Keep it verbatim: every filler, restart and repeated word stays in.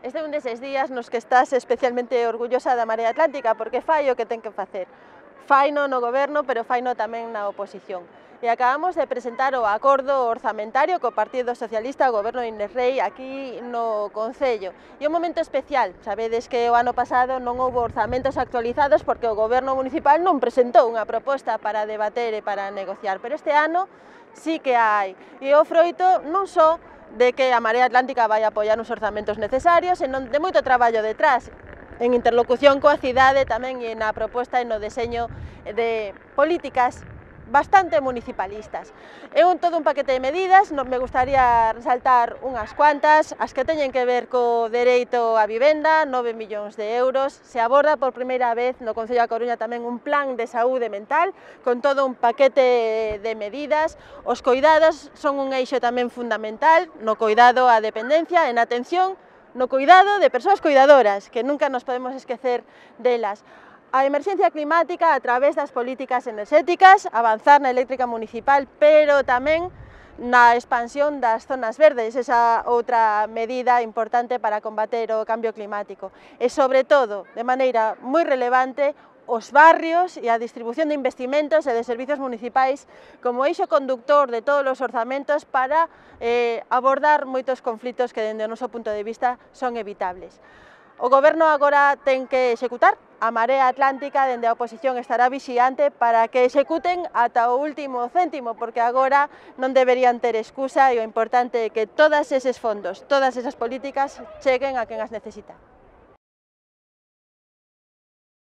Este é un deses días nos que estás especialmente orgullosa da Marea Atlántica porque fai o que ten que facer. Faino no goberno, pero faino tamén na oposición. E acabamos de presentar o acordo orzamentario co Partido Socialista, o goberno de Inés Rei, aquí no Concello. E un momento especial, sabedes que o ano pasado non houve orzamentos actualizados porque o goberno municipal non presentou unha proposta para debater e para negociar, pero este ano sí que hai. E o froito non só de que a Marea Atlántica vai apoiar os orzamentos necesarios, senón de moito traballo detrás, en interlocución coa cidade tamén e na proposta e no deseño de políticas bastante municipalistas. É un todo un paquete de medidas, me gustaría resaltar unhas cuantas, as que teñen que ver co dereito á vivenda, nove millóns de euros, se aborda por primeira vez no Concello da Coruña tamén un plan de saúde mental, con todo un paquete de medidas, os coidados son un eixo tamén fundamental, no coidado á dependencia, en atención, no cuidado de persoas cuidadoras, que nunca nos podemos esquecer delas. A emerxencia climática a través das políticas enerxéticas, avanzar na eléctrica municipal, pero tamén na expansión das zonas verdes, esa outra medida importante para combater o cambio climático. E, sobre todo, de maneira moi relevante, os barrios e a distribución de investimentos e de servizos municipais como eixo conductor de todos os orzamentos para eh, abordar moitos conflitos que, dende o noso punto de vista, son evitables. O goberno agora ten que executar, a Marea Atlántica dende a oposición estará vixiante para que executen ata o último céntimo, porque agora non deberían ter excusa e o importante é que todos eses fondos, todas esas políticas cheguen a quen as necesita.